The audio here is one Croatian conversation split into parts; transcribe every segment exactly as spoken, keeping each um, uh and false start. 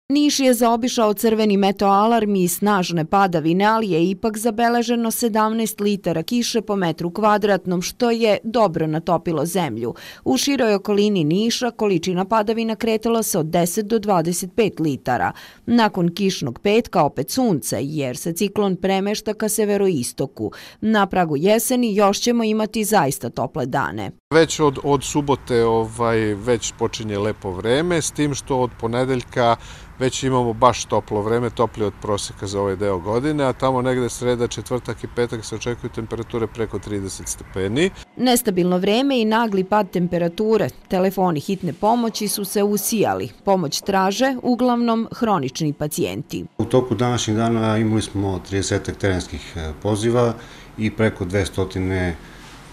Niš je zaobišao crveni meteoalarm i snažne padavine, ali je ipak zabeleženo sedamnaest litara kiše po metru kvadratnom, što je dobro natopilo zemlju. U široj okolini Niša količina padavina kretala se od deset do dvadeset pet litara. Nakon kišnog petka opet sunce, jer se ciklon premešta ka severoistoku. Na pragu jeseni još ćemo imati zaista tople dane. Već od, od subote ovaj, već počinje lepo vreme, s tim što od ponedeljka već imamo baš toplo vreme, toplije od proseka za ovaj deo godine, a tamo negde sreda, četvrtak i petak se očekuju temperature preko trideset stepeni. Nestabilno vreme i nagli pad temperature. Telefoni hitne pomoći su se usijali. Pomoć traže uglavnom hronični pacijenti. U toku današnjih dana imali smo trideset terenskih poziva i preko dvesta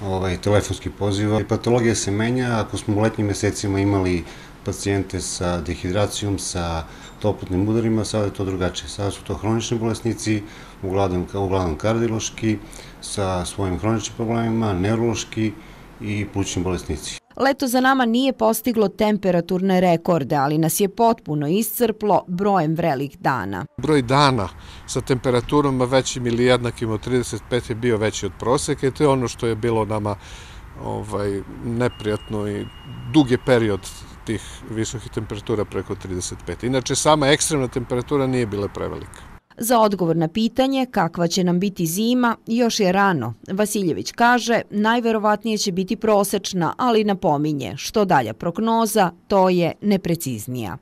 ovaj, telefonskih poziva. Patologija se menja, ako smo u letnjim mesecima imali pacijente sa dehidracijom, sa toplotnim udarima, sada je to drugačije. Sada su to hronični bolesnici, uglavnom, uglavnom kardiološki, sa svojim hroničnim problemima, neurološki i plućni bolesnici. Leto za nama nije postiglo temperaturne rekorde, ali nas je potpuno iscrplo brojem vrelih dana. Broj dana sa temperaturama većim ili jednakim od trideset pet je bio veći od proseka i to je ono što je bilo nama ovaj, neprijatno i dug je period tih visokih temperatura preko trideset pet. Inače, sama ekstremna temperatura nije bila prevelika. Za odgovor na pitanje kakva će nam biti zima još je rano. Vasiljević kaže najverovatnije će biti prosečna, ali napominje što dalja prognoza, to je nepreciznija.